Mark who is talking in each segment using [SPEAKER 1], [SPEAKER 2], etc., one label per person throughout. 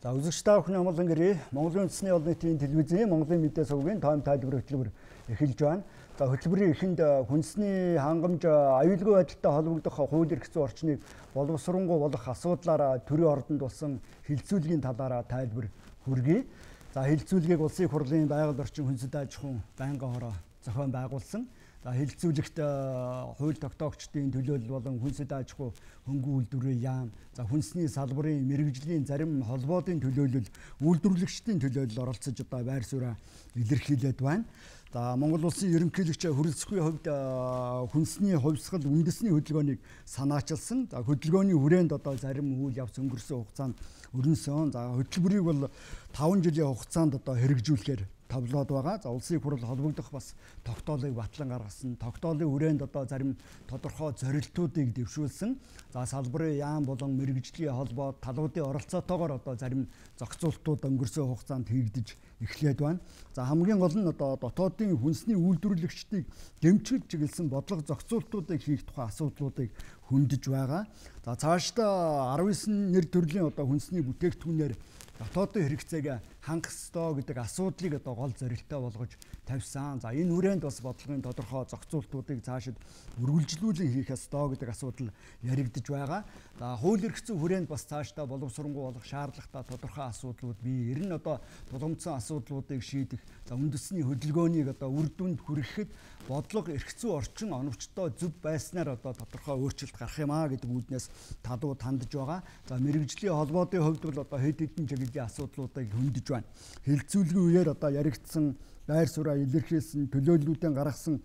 [SPEAKER 1] За үзэгч та бүхэн амгалан гэрээ Монголын үндэсний олон нийтийн телевизийн Монголын мэдээ сувгийн тайм тайлбар хөтөлбөр эхэлж байна. За хөтөлбөрийн эхэнд хүнсний хангамж аюулгүй байдалтай холбогдох хууль эрх зүйн орчныг боловсронгуй болох асуудлаараа төрийн ордонд болсон хилцүүлгийн талаараа тайлбар хүргэе. За хилцүүлгийг Улсын их хурлын байгаль орчин хүнсэд аж ахуйн байнгын хороо зохион байгуулсан. За хилцүүлэгт хууль тогтоогчдын төлөөлөл болон хүнсэд аж ахуй хөнгөн үйлдвэрийн яам, за хүнсний салбарын мэргэжлийн зарим холбоодын төлөөлөл, үйлдвэрлэгчдийн төлөөлөл оролцож одоо байр сууриа илэрхийлээд байна. За Монгол улсын ерөнхийлөгч хөрөлцөхийн хувьд хүнсний хувьсгал үндэсний хөдөлгөөнийг санаачилсан. За хөдөлгөөний хүрээнд одоо зарим үйл явц өнгөрсөн хугацаанд өрнөсөн. За хөтөлбөрийг бол 5 жилийн хугацаанд одоо хэрэгжүүлэхээр тавлаад байгаа. За улсын их хурл холбогдох бас тогтоолыг батлан гаргасан. Тогтоолын хүрээнд одоо зарим тодорхой зорилтуудыг дэвшүүлсэн. За салбарын яам болон мэргэжлийн холбоо талуудын оролцоотойгоор одоо зарим зохицуултууд өнгөрсөн хугацаанд хийгдэж эхлээд байна. За хамгийн гол нь одоо дотоодын хүнсний үйлдвэрлэгчдийг дэмжиж чиглэсэн бодлого зохицуултуудыг хийх тухай асуудлуудыг хөндөж байгаа. За цаашдаа 19 нэр төрлийн одоо хүнсний бүтээгдэхүүнээр дотоодын хэрэгцээг хангах ёстой гэдэг асуудлыг одоо гол зорилттой болгож тавьсан. За энэ хүрээнд бас бодлогын тодорхой зохицуултуудыг цаашид үргэлжлүүлэн хийх ёстой гэдэг асуудал яригдж байгаа. За хууль эрх зүйн хүрээнд бас цаашдаа боловсронгуй болох шаардлагатай тодорхой асуудлууд бий. Ер нь одоо тулгымдсан асуудлуудыг шийдэх, за үндэсний хөдөлгөөнийг одоо үр дүнд хүрэхэд бодлого эрх зүйн орчин оновчтой зөв байснаар одоо тодорхой өөрчлөлт гарах юм а гэдэг үүднээс талууд хандж байгаа. За мэргэжлийн холбоодын хувьд бол одоо хэд хэдэн чиглэлийн асуудлуудыг хөндөж байна. Хилцүүлгийн үеэр одоо яригдсан байр сууриа илэрхийлсэн төлөөллүүдийн гаргасан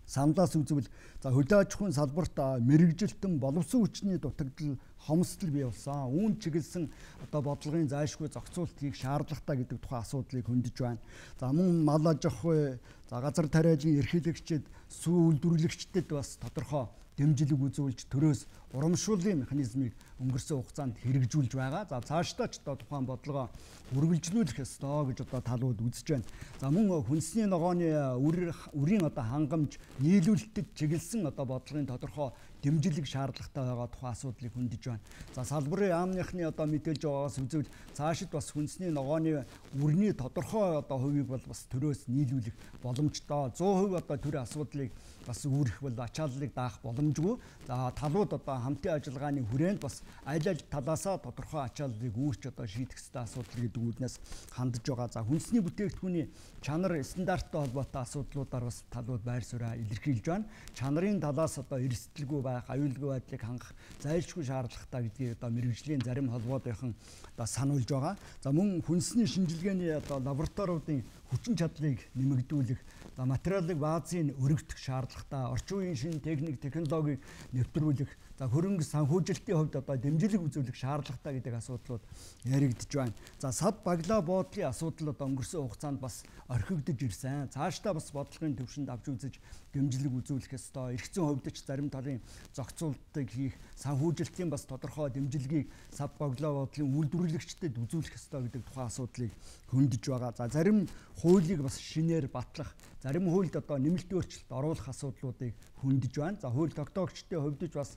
[SPEAKER 1] самлаас үзвэл за хөдөө аж ахуйн салбарт мэргэжилтэн боловсон хүчний дутагдал хомсдол бий болсон. Үүн чиглэсэн одоо бодлогын зайлшгүй зохицуулт хийх шаардлагатай гэдэг тухайн асуудлыг хөндөж байна. За мөн мал аж ахуй, за газар тариалан эрхлэгчид, сүү үйлдвэрлэгчдэд бас тодорхой дэмжлэг үзүүлж төрөөс урамшууллын механизмыг өнгөрсөн хугацаанд хэрэгжүүлж байгаа. За цаашдаа ч одоо тухайн бодлогоо үргэлжлүүлэх ёстой гэж одоо талууд үзэж байна. За мөн хүнсний ногооны үрийн одоо хангамж нийлүүлэлтэд чиглэсэн одоо бодлогын тодорхой дэмжлэг шаардлагатай байгаа тухайн асуудлыг хөндөж байна. За салбарын яамныхны одоо мэдээлж байгаагаас үзвэл цаашид бас хүнсний ногооны үрний тодорхой одоо хувийг бол бас төрөөс нийлүүлэх боломжтой. 100% одоо төрийн асуудлыг бас үүрэх бол ачааллыг даах боломжгүй. За талууд одоо хамтын ажиллагааны хүрээнд бас аль талаасаа тодорхой ачааллыг үүрч одоо шийдэх ёстой асуудал гэдэг үүднээс хандж байгаа. За хүнсний бүтээгдэхүүний чанар стандарттай холбоотой асуудлуудаар бас талууд байр сууриа илэрхийлж байна. Чанарын талаас одоо эрсдэлгүй байх, аюулгүй байдлыг хангах зайлшгүй шаардлагатай гэдгийг одоо мэргэжлийн зарим холбоодынхан одоо сануулж байгаа. За мөн хүнсний шинжилгээний одоо лабораториудын хүчин чадлыг нэмэгдүүлэх, за материалын баазыг өргөдөх шаардлагатай, орчин үеийн шинэ технологиг нэвтрүүлэх, за хөрөнгө санхүүжилтийн хувьд одоо дэмжлэг үзүүлэх шаардлагатай гэдэг асуудлууд яригдж байна. За сав баглаа боодлын асуудал одоо өнгөрсөн хугацаанд бас орхигдож ирсэн. Цаашдаа бас бодлогын төвшөнд авч үзэж дэмжлэг үзүүлэх ёстой. Эрх зүйн хувьд ч зарим талын зохицуултыг хийх, санхүүжилтийн бас тодорхой дэмжлэгийг сав баглаа боодлын үйлдвэрлэгчдэд үзүүлэх ёстой гэдэг тухайн асуудлыг хөндөж байгаа. За зарим хуулийг бас шинээр батлах, зарим хуульд одоо нэмэлт өөрчлөлт оруулах асуудлуудыг хөндөж байна. За хууль тогтоогчдын хувьд ч бас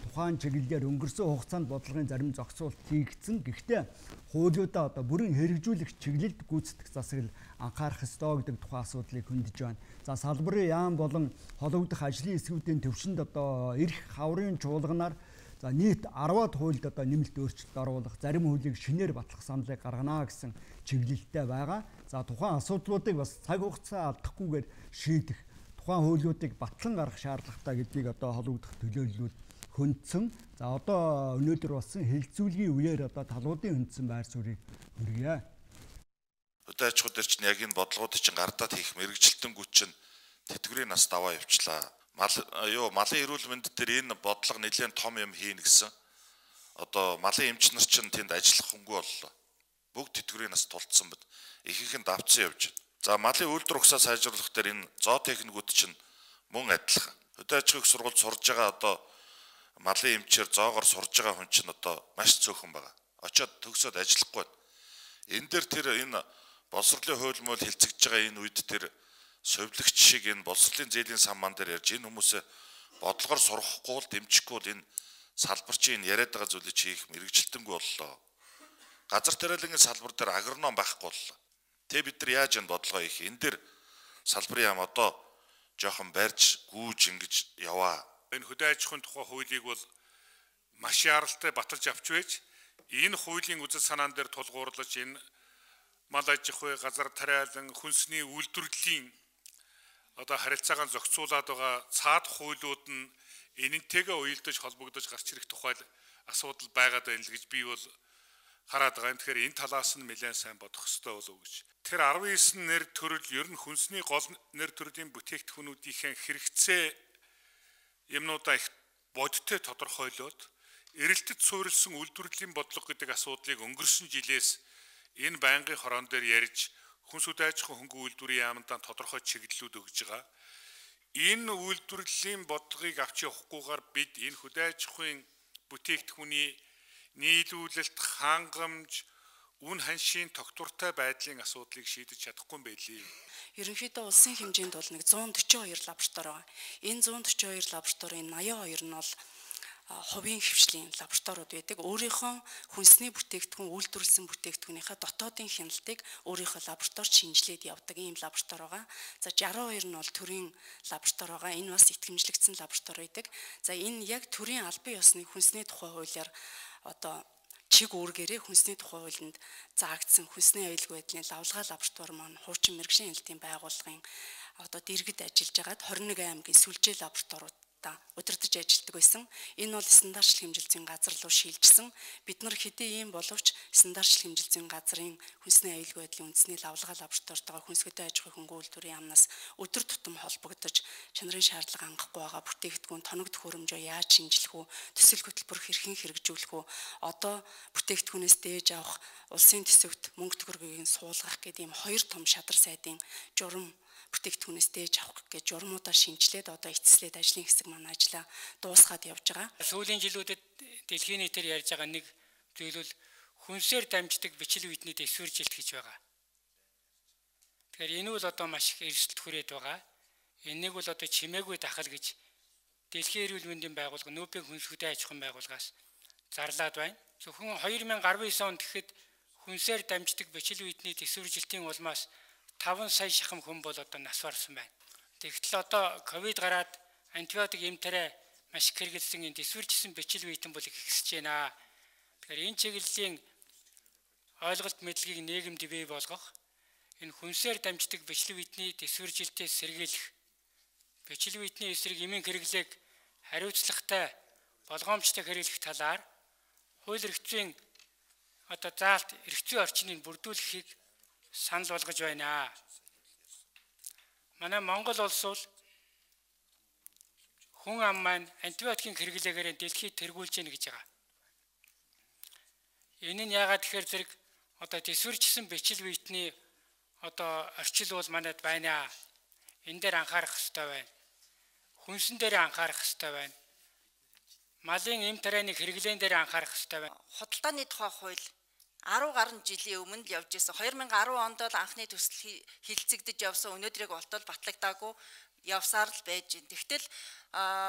[SPEAKER 1] тухайн чиглэлээр өнгөрсөн хугацаанд бодлогын зарим зохицуулт хийгдсэн. Гэхдээ хуулиудаа одоо бүрэн хэрэгжүүлэх чиглэлд гүйцэтгэх засаг анхаарах ёстой гэдэг тухайн асуудлыг хөндөж байна. За салбарын яам болон хологдох ажлын эсвүүдийн төвшөнд одоо эрх хаврын чуулганаар за нийт 10-аад хуульд одоо нэмэлт өөрчлөлт оруулах, зарим хуулийг шинээр батлах саналыг гаргана гэсэн чиглэлтэй байгаа. За тухайн асуудлуудыг бас цаг хугацаа алдахгүйгээр шийдэх, тухайн хуулиудыг батлан гаргах шаардлагатай гэдгийг одоо хологдох төлөөллүүд хөндсөн. За одоо өнөөдөр болсон хилцүүлгийн үеэр одоо талуудын хөндсөн байр суурийг хүргье.
[SPEAKER 2] Хөдөө аж ахуй дээр чинь яг энэ бодлогуудыг чинь гардаад хийх мэргэжилтэнгүүд чинь тэтгэврийн нас даваа явчлаа. Малын эрүүл мэнд дээр энэ бодлого нэлээд том юм хийнэ гэсэн. Одоо малын эмч нар чинь тэнд ажиллах хөнгөө боллоо. Бүгд тэтгэврийн нас тулцсан бод. Ихэнх нь давцсан явж байна. За малын үйлдвэр ухсаа сайжруулах дээр энэ зоотехникүүд чинь мөн адилхан. Хөдөө аж ахуйн сургуульд сурж байгаа одоо малын эмчээр зоогоор сурж байгаа хүн чинь одоо маш цөөхөн байгаа. Очоод төгсөөд ажиллахгүй байна. Энэ дээр тэр энэ боловсролын хууль мөл хилцэгдэж байгаа энэ үед тэр совилогч шиг энэ боловсролын зээлийн сан ман дээр ярьж энэ хүмүүсээ бодлогоор сургахгүй л дэмжихгүй л энэ салбарчийн яриад байгаа зүйлийг хийх мэргэжилтэнгүй боллоо. газар тариалангийн салбар дээр агроном байхгүй боллоо. Тэ бид нар яаж энэ бодлогоо их энэ дээр салбарын яам одоо жоохон барьж гүүж ингэж яваа.
[SPEAKER 3] Энэ хөдөө аж ахуйн тухай хуулийг бол маш яралтай баталж авч байж энэ хуулийн үзэл санаан дээр тулгуурлаж энэ мал аж ахуй, газар тариалан, хүнсний үйлдвэрлэлийн одоо харилцаагаа зохицуулаад байгаа цаад хуулиуд нь энэнтэйгээ уялдаж холбогдож гарч ирэх тухай асуудал байгаад байна л гэж би бол хараад байгаа юм. Тэгэхээр энэ талаас нь нэлээд сайн бодох хэрэгтэй болов уу гэж. Тэр 19 нэр төрөл ер нь хүнсний гол нэр төрлийн бүтээгдэхүүнүүдийн хэрэгцээ юмнуудаа их бодиттой тодорхойлоод эрэлтэд суурилсан үйлдвэрлэлийн бодлого гэдэг асуудлыг өнгөрсөн жилээс энэ байнгын хорон дээр ярьж хүнс үдэ аж ахуйн хөнгөн үйлдвэрийн яамдаа тодорхой чиглэлүүд өгж байгаа. Энэ үйлдвэрлэлийн бодлогыг авч явахгүйгээр бид энэ хөдөө аж ахуйн бүтээгдэхүүний нийлүүлэлт, хангамж, үн ханшийн тогтвортой байдлын асуудлыг шийдэж чадахгүй юм байлээ.
[SPEAKER 4] Ерөнхийдөө улсын хэмжээнд бол нэг 142 лаборатори байгаа. Энэ 142 лабораторийн 82 нь бол хувийн хвшлийн лабораториуд байдаг. Өөрийнхөө хүнсний бүтээгдэхүүн үйлдвэрлэсэн бүтээгдэхүүнийхээ дотоодын хяналтыг өөрийнхөө лабораторид шинжилээд явдаг ийм лаборатори байгаа. За 62 нь бол төрийн лаборатори байгаа. Энэ бас итгэмжлэгдсэн лаборатори байдаг. За энэ яг төрийн албан ёсны хүнсний тухай хуулиар одоо чиг үүргээрээ хүнсний тухай хуулинд заагдсан хүнсний аюулгүй байдлын лавлгаа лаборатори маань хуучин мэрэгжлийн хэлтийн байгууллагын одоо дэргэд ажиллаж байгаад 21 аймгийн сүлжээ лабораториуд удирдах ажилладаг байсан. Энэ бол стандартлах хэмжилтийн газар руу шилжсэн. Бид нар хэдий ийм боловч стандартлах хэмжилтийн газрын хүнсний аюулгүй байдлын үндэсний лавлгаа лабораторитойгоо хүнс хөдөө аж ахуйн хөнгөн үйлдвэрийн яамнаас өдөр тутам холбогдож чанарын шаардлага хангахгүй байгаа бүтээгдэхүүн тоног төхөөрөмжөө яаж шинжилэх үү, төсөл хөтөлбөр хэрхэн хэрэгжүүлэх үү, одоо бүтээгдэхүүнээс дээж авах улсын төсөвт мөнгө төгрөгийг суулгах гэдэг ийм хоёр том шадар сайдын журам бүтээгдэхүүнээс дээж авах гэж журмуудаар шинжилээд одоо эцэслээд ажлын хэсэг маань ажиллаа дуусгаад явж байгаа.
[SPEAKER 5] Сүүлийн жилүүдэд дэлхийн нийтээр ярьж байгаа нэг зүйл бол хүнсээр дамждаг бичил үйдний дэвсгэржилт гэж байгаа. Тэгэхээр энэ бол одоо маш их эрсдэлт хүрээд байгаа. Энийг бол одоо чимээгүй дахал гэж Дэлхийн эрүүл мэндийн байгууллага нүүбийн хүнс хөдөө аж ахуйн байгууллагаас зарлаад байна. Зөвхөн 2019 онд гэхэд хүнсээр дамждаг бичил үйдний дэвсгэржилтийн улмаас 5 сая шахам хүн бол одоо нас барсан байна. Тэгтэл одоо ковид гараад антибиотик эмтэрэ маш их хэрэгэлсэн энэ дэвсгэржсэн бичил үйдэн бол ихсэж байна. Тэгэхээр энэ чиглэлийн ойлголт мэдлэгийг нийгэмд бий болгох, энэ хүнсээр дамждаг бичил үйдний дэвсгэржилтээс сэргийлэх, бичил үйдний эсрэг эмийн хэрэглээг хариуцлагатай болгоомжтой хэрэглэх талаар хууль эрхцийн одоо заалт эрхцийн орчныг бүрдүүлэхийг санал болгож байна. Манай Монгол улс бол хүн ам маань антибиотикийн хэрэглээгээр дэлхийд тэргүүлж гэнэ гэж байгаа. Энэ нь яагаад тэгэхээр зэрэг одоо дэвсгэржсэн бичил үйдний одоо орчил бол манайд байна. Энэ дээр анхаарах хэрэгтэй байна. Хүнсэн дээр анхаарах хэрэгтэй байна. Малын эм тарианы хэрэглээн дээр анхаарах хэрэгтэй байна.
[SPEAKER 6] Худалдааны тухай хууль 10 гаруй жилийн өмнө л явж байсан. 2010 онд бол анхны төсөл хилцэгдэж явсан. Өнөөдрийг болтол батлагдаагүй явсаар л байж байна. Тэгтэл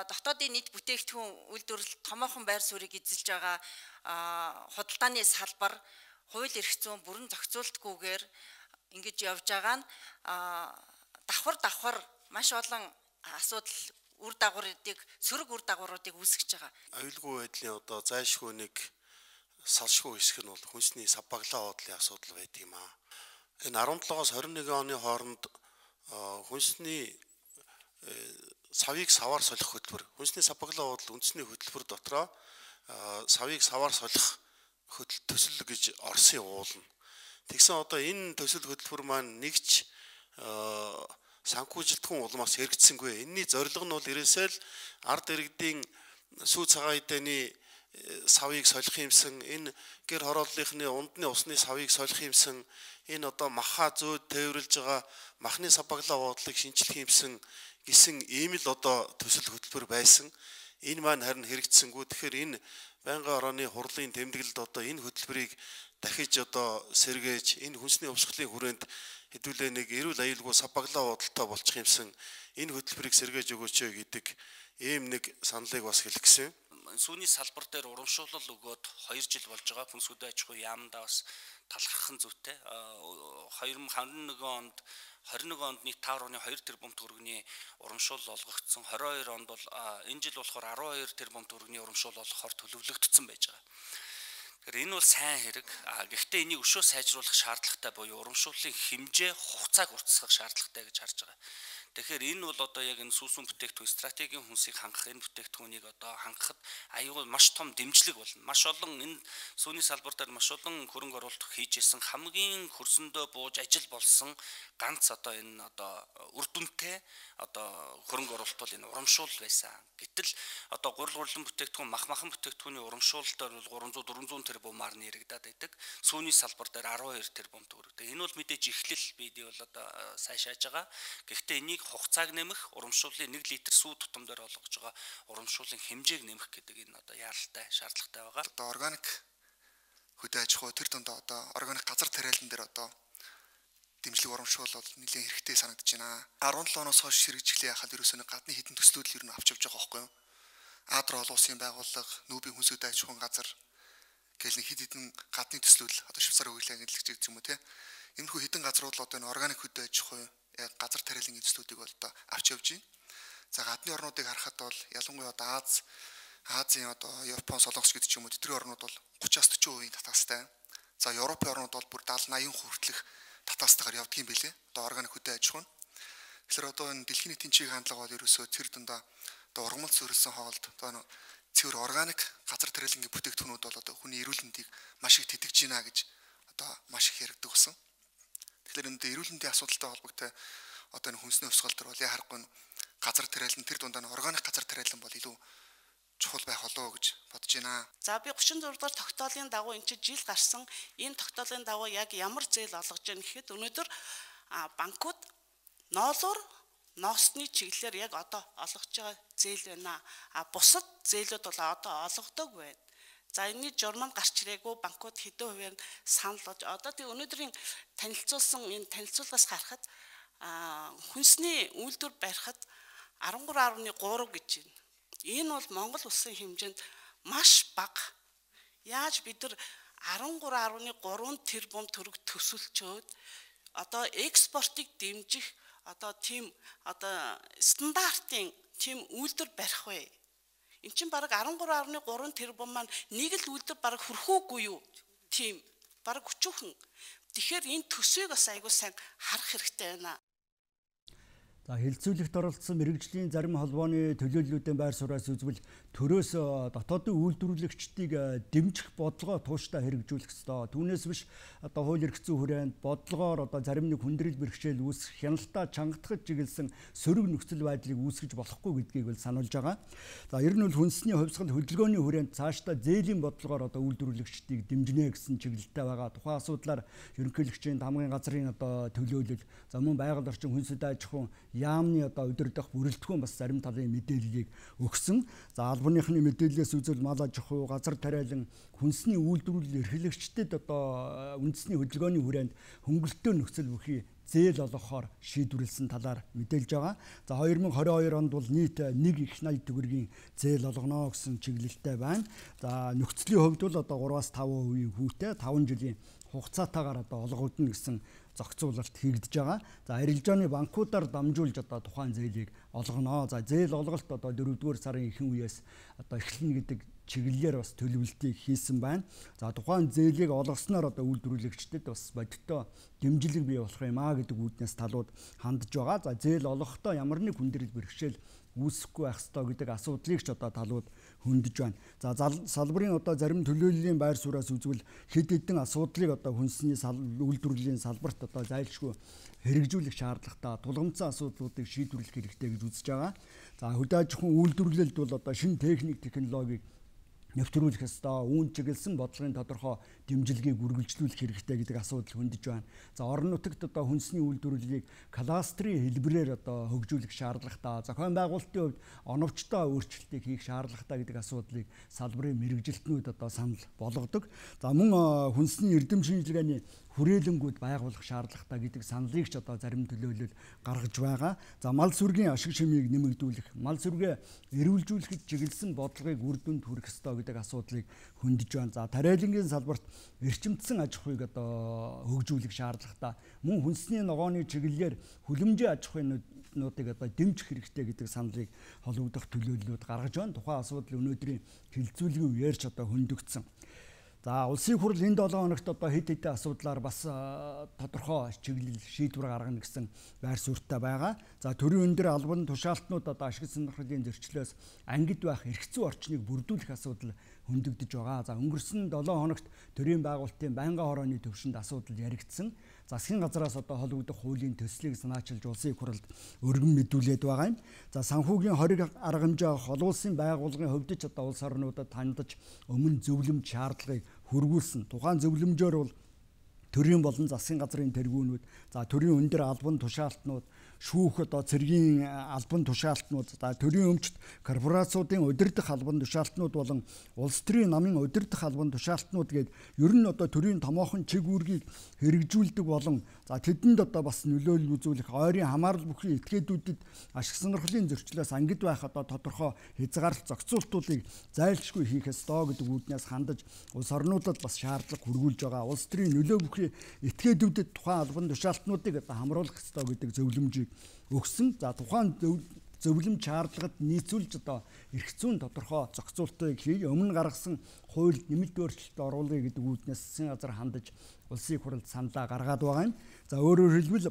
[SPEAKER 6] дотоодын нийт бүтээгдэхүүн үйлдвэрлэлт томоохон байр суурийг эзэлж байгаа худалдааны салбар хууль эрх зүйн бүрэн зохицуултгүйгээр ингэж явж байгаа нь давхар маш олон асуудал үр дагавруудыг сөрөг үр дагавруудыг үүсгэж байгаа.
[SPEAKER 7] Аюулгүй байдлын одоо зайлшгүй нэг салшгүй хэсэг нь бол хүнсний савбаглаа бодлын асуудал байдаг юм аа. Энэ 17-оос 21 оны хооронд хүнсний савыг саваар солих хөтөлбөр, хүнсний савбаглаа бодол үндэсний хөтөлбөр дотроо савыг саваар солих төсөл гэж Оросын уулна. Тэгсэн одоо энэ төсөл хөтөлбөр маань нэгч санхүүжилтхэн улмаас хэрэгжсэнгүй. Энэний зорилго нь бол ерөөсөө л ард иргэдийн сүү цагаан эдэний савыг солих юмсан, энэ гэр хорооллынхны ундны усны савыг солих юмсан, энэ одоо маха зөөд тээвэрлж байгаа махны савбаглаа бодлыг шинжлэх юмсан гэсэн ийм л одоо төсөл хөтөлбөр байсан. Энэ маань харин хэрэгжсэнгүй. Тэгэхээр энэ байнгын орооны хурлын тэмдэглэлд одоо энэ хөтөлбөрийг дахиж одоо сэргээж энэ хүнсний өвсгөлийн хүрээнд хэдүүлээ нэг эрүүл аюулгүй савбаглаа бодолтой болчих юмсан энэ хөтөлбөрийг сэргээж өгөөч гэдэг ийм нэг саналыг бас хэлэх гэсэн.
[SPEAKER 8] сүүний салбар дээр урамшуулал өгөөд 2 жил болж байгаа. Хүнс хөдөө аж ахуй яамдаа бас талархах нь зүйтэй. 2021 онд нийт 5.2 тэрбум төгрөгийн урамшуул олгогдсон. 22 онд бол энэ жил болохоор 12 тэрбум төгрөгийн урамшуул олгохоор төлөвлөгдсөн байж байгаа. Тэгэхээр энэ бол сайн хэрэг. Гэхдээ энийг өшөө сайжруулах шаардлагатай буюу урамшууллын хэмжээ хугацааг уртасгах шаардлагатай гэж харж байгаа. Тэгэхээр энэ бол одоо яг энэ сүүсүн бүтээгдэхүүн стратегийн хүнсийг хангах энэ бүтээгдэхүүнийг одоо хангахад аюул маш том дэмжлэг болно. Маш олон энэ сүүний салбар дээр маш олон хөрөнгө оруулалт хийжсэн хамгийн хөрсөндөө бууж ажил болсон ганц одоо энэ одоо үр дүнтэй одоо хөрөнгө оруулалт бол энэ урамшуул байсан. Гэтэл одоо гурилан бүтээгдэхүүн махан бүтээгдэхүүний урамшуулалтаар бол 300-400 тэрбумаар нэрэгдээд байдаг. Сүүний салбар дээр 12 тэрбум төгрөг. Энэ бол мэдээж эхлэл бидий бол одоо сайшааж байгаа. Гэхдээ энийг хугацааг нэмэх, урамшууллын 1 литр сүү тутам дээр олгож байгаа урамшууллын хэмжээг нэмэх гэдэг энэ одоо яаралтай шаардлагатай байгаа.
[SPEAKER 9] Одоо органик хөдөө аж ахуй тэр дунд одоо органик газар тариалан дээр одоо дэмжлэг урамшуул бол нэлээд хэрэгтэй санагдаж байна. 17 оноос хойш ширгэжлээ яхад ерөөсөө гадны хэдэн төслүүд л ер нь авч явж байгаа байхгүй юу? Адр олон улсын байгууллага, нүүбийн хүнс хөдөө аж ахуйн газар гэл нэг хэдэн гадны төслүүд одоо Швейцарын хуулиар хэрэгжиж байгаа юм уу те. Иймэрхүү хэдэн газрууд л одоо энэ органик хөдөө аж ахуй газар тариалан төслүүдийг бол одоо авч явж байна. За гадны орнуудыг харахад бол ялангуяа одоо Азийн одоо Япон, Солонгос гэдэг ч юм уу тэдний орнууд бол 30-40% татаастай. За Европын орнууд бол бүр 70-80% хүртэлх татаастайгаар явдаг юм билээ. Одоо органик хөдөө аж ахуй. Тэгэхээр одоо энэ дэлхийн нийтийн чиг хандлага бол ерөөсөө цэр дундаа одоо ургамал зөвлөсөн хоолд одоо цэвэр органик газар тариалангийн бүтээгдэхүүнүүд бол одоо хүний эрүүл мэндийг маш их тэтгэж байна гэж одоо маш их яригддаг болсон. Тэгэхээр энэ эрүүл мэндийн асуудалтай холбоотой одоо энэ хүнсний хувьсгал төр бол яа харахгүй газар тариалан тэр дундаа органик газар тариалан бол илүү чухал байх болоо гэж бодож байна.
[SPEAKER 10] За би 36 дугаар тогтоолын дагуу энэ жил гарсан энэ тогтоолын дагуу яг ямар зээл олгож байна гэхэд өнөөдөр банкуд ноосны чиглэлээр яг одоо олгож байгаа зээл байна. Бусад зээлүүд бол одоо олгодог байна. За энэний журманд гарч ирээгүй банкуд хэдэн хувийн санал болж одоо тий өнөөдрийн танилцуулсан энэ танилцуулгаас харахад хүнсний үйлдвэр барихад 13.3 гэж байна. Энэ бол Монгол улсын хэмжээнд маш бага. Яаж бид нар 13.3 тэрбум төгрөг төсөлчөөд одоо экспортыг дэмжих одоо тийм одоо стандартын тийм үйлдвэр барих вэ? Эн чинь бараг 13.3 тэрбум маань нэг л үйлдвэр бараг хүрхүүгүй юу? Тийм бараг өчүүхэн. Тэгэхээр энэ төсвийг бас айгуу сайн харах хэрэгтэй байна.
[SPEAKER 1] За хэлцүүлэгт оролцсон мэрэгжлийн зарим холбооны төлөөллүүдийн байр сураас үзвэл төрөөс дотоодын үйлдвэрлэгчдийг дэмжих бодлогоо тууштай хэрэгжүүлэх ёстой. Түүнээс биш одоо хууль эрх зүйн хүрээнд бодлогоор одоо зарим нэг хүндрэл бэрхшээл үүсэх хяналтаа чангатгаж чиглэсэн сөрөг нөхцөл байдлыг үүсгэж болохгүй гэдгийг бол сануулж байгаа. За ер нь бол хүнсний хувьсгал хөдөлгөөний хүрээнд цаашдаа зээлийн бодлогоор одоо үйлдвэрлэгчдийг дэмжинэ гэсэн чиглэлтэй байгаа. Тухайн асуудлаар ерөнхийлөгчийн хамгийн газрын одоо төлөөлөл, за мөн байгаль орчин хүнс хөдөө аж ахуйн яамны одоо удирдах бүрэлдэхүүн бас зарим талын мэдээллийг өгсөн. За албаныхны мэдээллээс үзвэл мал аж ахуй, газар тариалан, хүнсний үйлдвэрлэл эрхлэгчдэд одоо үндэсний хөдөлгөөний хүрээнд хөнгөлөлтөө нөхцөл бүхий зээл олгохоор шийдвэрлсэн талаар мэдээлж байгаа. За 2022 онд бол нийт 1.80 төгрөгийн зээл олгоно гэсэн чиглэлтэй байна. За нөхцөлийн хувьд бол одоо 3-5% хүүтэй 5 жилийн хугацаатаагаар одоо олгогдно гэсэн зохицуулалт хийгдэж байгаа. За арилжааны банкудаар дамжуулж одоо тухайн зээлийг олгоно. За зээл олголт одоо 4-р сарын ихэнх үеэс одоо эхэлнэ гэдэг чиглэлээр бас төлөвлөлтийг хийсэн байна. За тухайн зээлийг олгосноор одоо үйлдвэрлэгчдэд бас бодиттой дэмжлэг бий болох юм аа гэдэг үүднээс талууд хандж байгаа. За зээл олгохдоо ямар нэг хүндрэл бэрхшээл үүсэхгүй байх ёстой гэдэг асуудлыг ч одоо талууд хөндөж байна. За салбарын одоо зарим төлөөллийн байр суураас үзвэл хэд хэдэн асуудлыг одоо хүнсний үйлдвэрлэлийн салбарт одоо зайлшгүй хэрэгжүүлэх шаардлагатай тулгымцсан асуудлуудыг шийдвэрлэх хэрэгтэй гэж үзэж байгаа. За хөдөө аж ахуйн үйлдвэрлэлд бол одоо шинэ техник технологиг нэвтрүүлэх ёстой, үүнд чиглэсэн бодлогын тодорхой дэмжлэгийг үргэлжлүүлэх хэрэгтэй гэдэг асуудал хөндөж байна. За орон нутагт одоо хүнсний үйлдвэрлэлийг кластрын хэлбэрээр одоо хөгжүүлэх шаардлагатай, зохион байгуулалтын хувьд оновчтой өөрчлөлтийг хийх шаардлагатай гэдэг асуудлыг салбарын мэрэгжилтнүүд одоо санал болгодог. За мөн хүнсний эрдэм шинжилгээний хүрээлэнгүүд байгуулах шаардлагатай гэдэг саналыг ч одоо зарим төлөөлөл гаргаж байгаа. За мал сүргийн ашиг шимийг нэмэгдүүлэх, мал сүргээ эрүүлжүүлэхэд чиглэсэн бодлогыг үр дүнд хүргэх ёстой гэдэг асуудлыг хөндөж байна. За тариалангийн салбарт эрчимдсэн аж ахуйг одоо хөгжүүлэх шаардлагатай. Мөн хүнсний ногооны чиглэлээр хүлэмжийн аж ахуйнуудыг одоо дэмжих хэрэгтэй гэдэг саналыг холбогдох төлөөллүүд гаргаж байна. Тухайн асуудал өнөөдрийн хилцүүлгийн үеэрч одоо хөндөгдсөн. За улсын хурал энэ 7 хоногт одоо хэд хэдэн асуудлаар бас тодорхой чиглэл шийдвэр гаргана гэсэн байр суурьтай байгаа. За төрийн өндөр албан тушаалтнууд одоо ашиг сонирхлын зөрчлөөс ангид байх эрх зүйн орчныг бүрдүүлэх асуудал хөндөгдөж байгаа. За өнгөрсөн 7 хоногт төрийн байгуулалтын байнгын хорооны төвшөнд асуудал яригдсан. Засгийн газраас одоо холбогдох хуулийн төслийг санаачилж улсын хурлд өргөн мэдүүлээд байгаа юм. За санхүүгийн хориг арга хэмжээ олон улсын байгууллагын хувьд ч одоо улс орнуудад хандаж өмнө зөвлөмж шаардлагыг хөрвүүлсэн. Тухайн зөвлөмжөөр бол төрийн болон засгийн газрын тэргүүнүүд, за төрийн өндөр албан тушаалтнууд, шүүх одоо цэргийн албан тушаалтнууд, за төрийн өмчт корпорациудын удирдах албан тушаалтнууд болон улс төрийн намын удирдах албан тушаалтнууд гээд ер нь одоо төрийн томоохон чиг үүргийг хэрэгжүүлдэг болон за тэдэнд одоо бас нөлөөлөл үзүүлэх ойрын хамаарал бүхий этгээдүүдэд ашиг сонирхлын зөрчлөөс ангид байх одоо тодорхой хязгаарлалт зохицуултуудыг зайлшгүй хийх ёстой гэдэг үүднээс хандаж улс орнуудад бас шаардлага хүргүүлж байгаа. Улс төрийн нөлөө бүхий этгээдүүдэд тухайн албан тушаалтнуудыг одоо хамруулах ёстой гэдэг зөвлөмжийг өгсөн. За тухайн зөвлөмж шаардлагад нийцүүлж одоо эрх зүйн тодорхой зохицуултыг хий, өмнө гаргасан хуульд нэмэлт өөрчлөлт оруулъя гэдэг үүднээс засгийн газар хандаж улсын хурлд саналаа гаргаад байгаа юм. За өөрөөр хэлбэл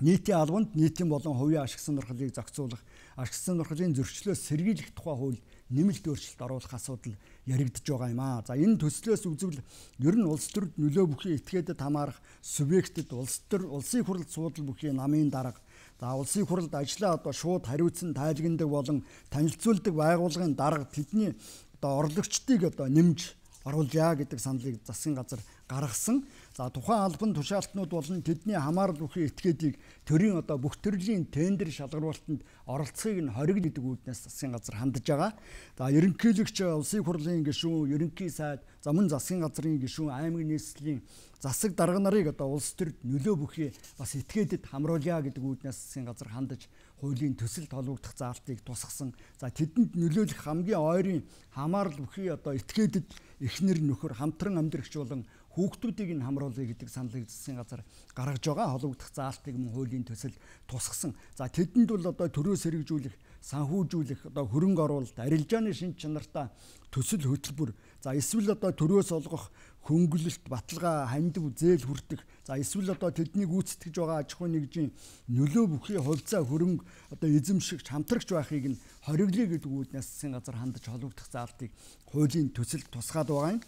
[SPEAKER 1] нийтийн албанд нийтийн болон хувийн ашиг сонирхлыг зохицуулах, ашиг сонирхлын зөрчлөөс сэргийлэх тухай хууль нэмэлт өөрчлөлт оруулах асуудал яригдж байгаа юм аа. За энэ төслөөс үзвэл ер нь улс төрд нөлөө бүхий этгээдэд хамаарах субъектэд улсын хурлд суудал бүхий намын дарга, за улсын хурлд ажлаа одоо шууд хариуцсан тайлагнадаг болон танилцуулдаг байгууллагын дарга тэдний одоо орлогчдыг одоо нэмж оруулъя гэдэг саналыг засгийн газар гаргасан. За тухайн албан тушаалтнууд болон тэдний хамаарал бүхий этгээдийг төрийн одоо бүх төрлийн тендер шалгаруулалтанд оролцохыг нь хориг гэдэг үүднээс засгийн газар хандж байгаа. За ерөнхийлөгч улсын хурлын гишүүн, ерөнхий сайд, за мөн засгийн газрын гишүүн, аймаг нийслэлийн засаг дарга нарыг одоо улс төрд нөлөө бүхий бас этгээдэд хамруулъя гэдэг үүднээс засгийн газар хандаж хуулийн төсөлд холбогдох заалтыг тусгасан. За тэдэнд нөлөөлөх хамгийн ойрын хамаарал бүхий одоо этгээдэд эхнэр нөхөр хамтран амьдрагч болон хүүхдүүдийг нь хамруулъя гэдэг саналыг засгийн газар гаргаж байгаа. Холбогдох заалтыг мөн хуулийн төсөл тусгасан. За тэдэнд бол одоо төрөөс хэрэгжүүлэх, санхүүжүүлэх, одоо хөрөнгө оруулалт, арилжааны шинж чанартай төсөл хөтөлбөр, за эсвэл одоо төрөөс олгох хөнгөлөлт, баталгаа, хандив, зээл хүртэх, за эсвэл одоо тэднийг гүйцэтгэж байгаа аж ахуйн нэгжийн нөлөө бүхий хувьцаа хөрөнгө одоо эзэмшигч, хамтрагч байхыг нь хориглоё гэдэг үүднээс засгийн газар хандаж холбогдох заалтыг хуулийн төсөлд тусгаад байгаа юм.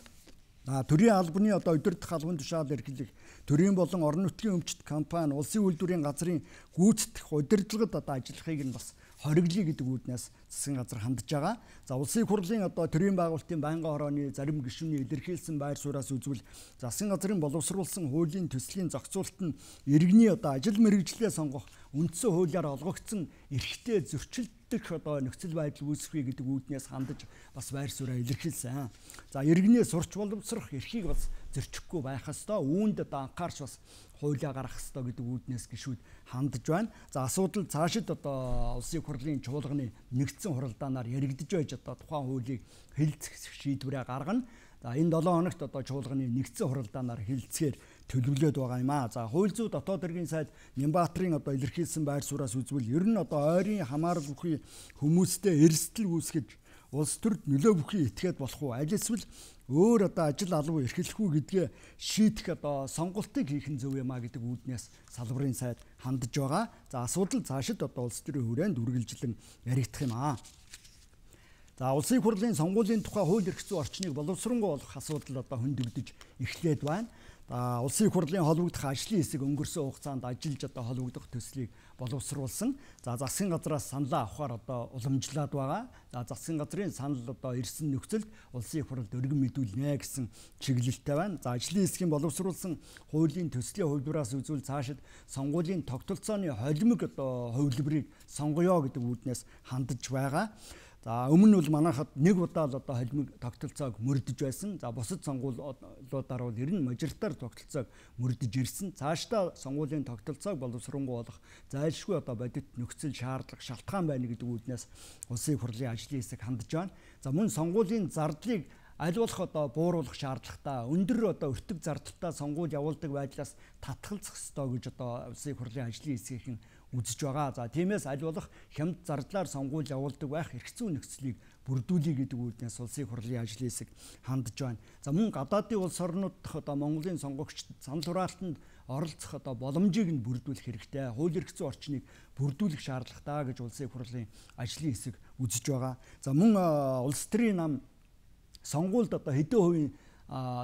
[SPEAKER 1] Төрийн албаны одоо удирдах албан тушаал эрхлэх, төрийн болон орон нутгийн өмчт компани, улсын үйлдвэрийн газрын гүйцэтгэх удирдлагад одоо ажиллахыг нь бас хориглоё гэдэг үүднээс засгийн газар хандж байгаа. За улсын хурлын одоо төрийн байгуулалтын байнгын хорооны зарим гишүүний илэрхийлсэн байр сууриас үзвэл засгийн газрын боловсруулсан хуулийн төслийн зохицуулалт нь иргэний одоо ажил мэргэжлээ сонгох үндсэн хуулиар олгогдсон эрхтэй зөрчилдөх одоо нөхцөл байдал үүсвэ гэдэг үүднээс хандаж бас байр сууриа илэрхийлсэн. За иргэнээ сурч боловсрох эрхийг бас зөрчихгүй байх ёстой. Үүнд одоо анхаарч бас хуулиа гаргах ёстой гэдэг үүднээс гишүүд хандж байна. За асуудал цаашид одоо улсын хурлын чуулганы нэгдсэн хуралдаанаар яригдж байж одоо тухайн хуулийг хэлэлцэх шийдвэрээ гаргана. За энэ 7 хоногт одоо чуулганы нэгдсэн хуралдаанаар хэлэлцэхээр төлөвлөд байгаа юм аа. За хууль зүйн дотоод хэргийн сайд Нямбаатрын одоо илэрхийлсэн байр сууриас үзвэл ер нь одоо ойрын хамаарал бүхий хүмүүстэй эрсдэл үүсгэж улс төрд нөлөө бүхий этгээд болох уу? Аль эсвэл өөр одоо ажил албан эрхлэх үү гэдгээ шийдэх одоо сонголтыг хийх нь зөв юм а гэдэг үүднээс салбарын сайд хандж байгаа. За асуудал цаашид одоо улс төрийн хүрээнд үргэлжлэн яригдах юм аа. За улсын хурлын сонгуулийн тухай хууль эрх зүйн орчныг боловсронгуй болгох асуудал одоо хөндөгдөж эхлээд байна. За улсын хурлын холбогдох ажлын хэсэг өнгөрсөн хугацаанд ажиллаж одоо холбогдох төслийг боловсруулсан. За засгийн газраас саналаа авахар одоо уламжлаад байгаа. За засгийн газрын санал одоо ирсэн нөхцөлд улсын хурлд өргөн мэдүүлнэ гэсэн чиглэлтэй байна. За ажлын хэсгийн боловсруулсан хуулийн төслийн хувьдраас үзвэл цаашид сонгуулийн тогтолцооны холимог одоо хувилбарыг сонгоё гэдэг үүднээс хандаж байгаа. За өмнө нь бол манайхад нэг удаа л одоо холимог тогтолцоог мөрдөж байсан. За бусад сонгуулиудаар бол ер нь мажоритар тогтолцоог мөрдөж ирсэн. Цаашдаа сонгуулийн тогтолцоог боловсронгуй болох зайлшгүй одоо бодит нөхцөл шаардлага шалтгаан байна гэдэг үүднээс улсын хурлын ажлын хэсэг хандж байна. За мөн сонгуулийн зардлыг аль болох одоо бууруулах шаардлагатай өндөр одоо өртөг зардалтай сонгуул явуулдаг байдлаас татгалзах ёстой гэж одоо улсын хурлын ажлын хэсгийн үзэж байгаа. За тиймээс аль болох хямд зардлаар сонгуул явуулдаг байх эрх зүйн нөхцөлийг бүрдүүлэх гэдэг үүднээс улсын хурлын ажлын хэсэг хандж байна. За мөн гадаадын улс орнууд дахь одоо Монголын сонгогчдод санал хураалтанд оролцох одоо боломжийг нь бүрдүүлэх хэрэгтэй. Хууль эрх зүйн орчныг бүрдүүлэх шаардлагатай гэж улсын хурлын ажлын хэсэг үзэж байгаа. За мөн улс төрийн нам сонгуульд одоо хэдэн хувийн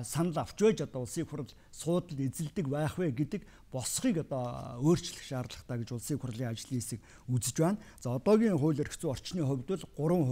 [SPEAKER 1] санал авч байж одоо улсын хурл суудалд эзэлдэг байх вэ гэдэг босхийг одоо өөрчлөх шаардлагатай гэж улсын хурлын ажлын хэсэг үзэж байна. За одоогийн хууль эрх зүйн орчны хувьд бол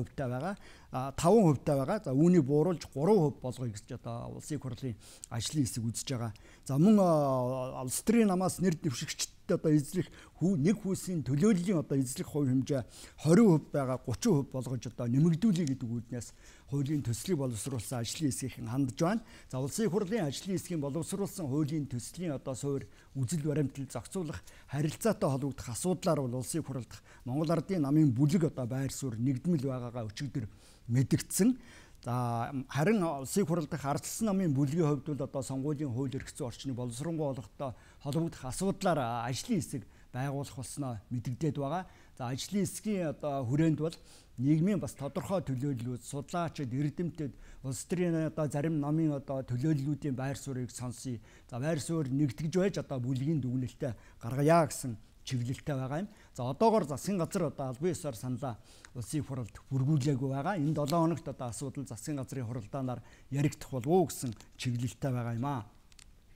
[SPEAKER 1] 3% байгаа, 5% байгаа. За үүнийг бууруулж 3% болгоё гэж одоо улсын хурлын ажлын хэсэг үзэж байгаа. За мөн улс төрийн намаас нэр дэвшигчдад одоо эзлэх нэг хүйсийн төлөөллийн одоо эзлэх хувь хэмжээ 20% байгаа 30% болгож одоо нэмэгдүүлэх гэдэг үүднээс хуулийн төслийг боловсруулсан ажлын хэсгийн хандж байна. За улсын хурлын ажлын хэсгийн боловсруулсан хуулийн төслийн одоо суурь үзэл баримтал зохицуулах харилцаатай холбогдох асуудлаар бол улсын хурлд Монгол Ардын намын бүлэг одоо байр суурь нэгдмэл байгаагаа өчигдөр мэдэгдсэн. За харин улсын хурал дахь ардчилсан намын бүлгийн хувьд бол одоо сонгуулийн хууль эрх зүйн орчныг боловсронгуй болгохтой холбогдох асуудлаар ажлын хэсэг байгуулах болсноо мэдэгдээд байгаа. За ажлын хэсгийн одоо хүрээнд бол нийгмийн бас тодорхой төлөөллүүд, судлаачид, эрдэмтэд улс төрийн одоо зарим намын одоо төлөөллүүдийн байр суурийг сонсъё. За байр суурь нэгтгэж байж одоо бүлгийн дүгнэлтэд гаргая гэсэн чиглэлтэй байгаа юм. За одоогоор засгийн газар одоо албан ёсоор саналаа улсын хурлд бүргүүлээгүй байгаа. Энэ 7 хоногт одоо асуудал засгийн газрын хуралдаанаар яригдах болов уу гэсэн чиглэлтэй байгаа юм аа.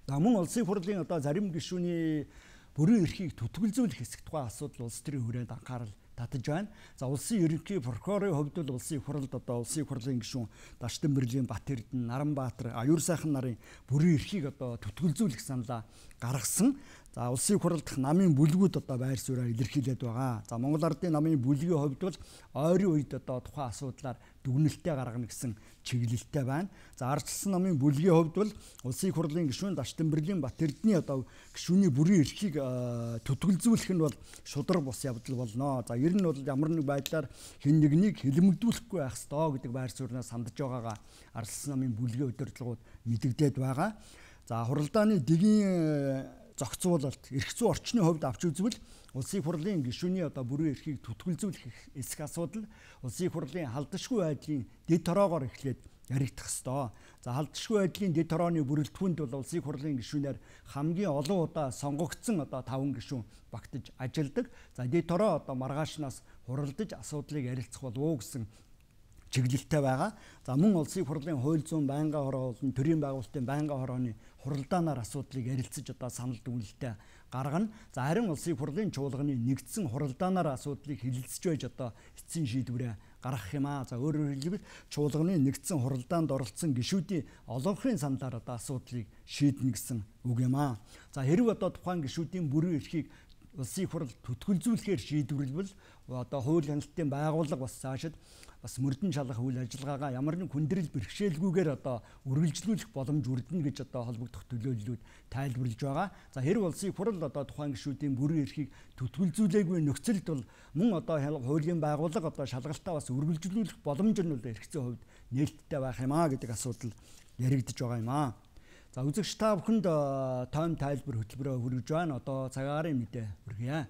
[SPEAKER 1] За мөн улсын хурлын одоо зарим гишүүний бүрэн эрхийг түтгэлзүүлэх хэсэг тухай асуудал улс төрийн хүрээнд анхаарал татаж байна. За улсын ерөнхий прокурорын хувьд бол улсын хурлд одоо улсын хурлын гишүүн Дашданбэрлийн Батэрдэн, Наранбаатар, Аюур сайхан нарын бүрэн эрхийг одоо түтгэлзүүлэх саналаа гаргасан. За улсын хурал дахь намын бүлгүүд одоо байр сууриа илэрхийлээд байгаа. За Монгол Ардын намын бүлгийн хувьд бол ойрын үед одоо тухайн асуудлаар дүгнэлтээ гаргана гэсэн чиглэлтэй байна. За ардчилсан намын бүлгийн хувьд бол улсын хурлын гишүүн Дашданбэрлийн Батэрдний одоо гишүүний бүрэн эрхийг түтгэлзүүлэх нь бол шудраг бус явдал болно. За ер нь бол ямар нэг байдлаар хэн нэгнийг хэлэмгдүүлэхгүй байх ёстой гэдэг байр сууриас хандж байгаагаа ардчилсан намын бүлгийн удирдлагууд мэдэгдээд байгаа. За хуралдааны дэгийн зохицуулалт эрх зүйн орчны хувьд авч үзвэл улсын хурлын гишүүний одоо бүрэн эрхийг түтгэлзүүлэх эсэх асуудал улсын хурлын халдшгүй байдлын дэд тороогоор эхлээд яригдах ёстой. За халдшгүй байдлын дэд төрөөний бүрэлдэхүүнд бол улсын хурлын гишүүнээр хамгийн олон удаа сонгогдсон одоо 5 гишүүн багтаж ажилладаг. За дэд төрөө одоо маргаашнаас хуралдаж асуудлыг ярилцах болов уу гэсэн чиглэлтэй байгаа. За мөн улсын хурлын хууль зүйн байнгын хороо болон төрийн байгуулалтын байнгын хорооны хуралдаанаар асуудлыг ярилцаж одоо санал дүгнэлтээ гаргана. За харин улсын хурлын чуулганы нэгдсэн хуралдаанаар асуудлыг хэлэлцэж байж одоо эцсийн шийдвэрээ гаргах юм аа. За өөрөөр хэлбэл чуулганы нэгдсэн хуралдаанд оролцсон гишүүдийн олонхын саналаар одоо асуудлыг шийднэ гэсэн үг юм аа. За хэрэг одоо тухайн гишүүдийн бүрэн эрхийг улсын хурал түтгэлзүүлэхээр шийдвэрлэвэл одоо хууль хяналтын байгууллага бас цаашид бас мөрдөн шалгах үйл ажиллагаагаа ямар нэг хүндрэл бэрхшээлгүйгээр одоо үргэлжлүүлэх боломж үрдэнэ гэж одоо холбогдох төлөөллүүд тайлбарлаж байгаа. За хэрэг улсын хурал одоо тухайн гишүүдийн бүрэн эрхийг түтгэлзүүлээгүй нөхцөлд бол мөн одоо хуулийн байгууллага одоо шалгалтаа бас үргэлжлүүлэх боломж нь бол эрх зүйн хувьд нээлттэй байх юм аа гэдэг асуудал яригдж байгаа юм аа. За үзэгч та бүхэнд тойм тайлбар хөтөлбөрөөр хүргэж байна. Одоо цагаарын мэдээ хүргье.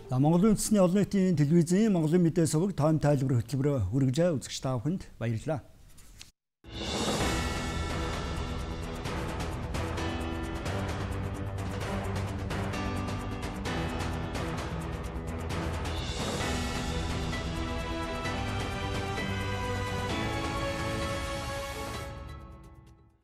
[SPEAKER 1] Монголын үндэсний олон нийтийн телевизийн Монголын мэдээ суваг тайм тайлбар хөтөлбөрөөр хүргэж үзэгч та бүхэнд баярлалаа.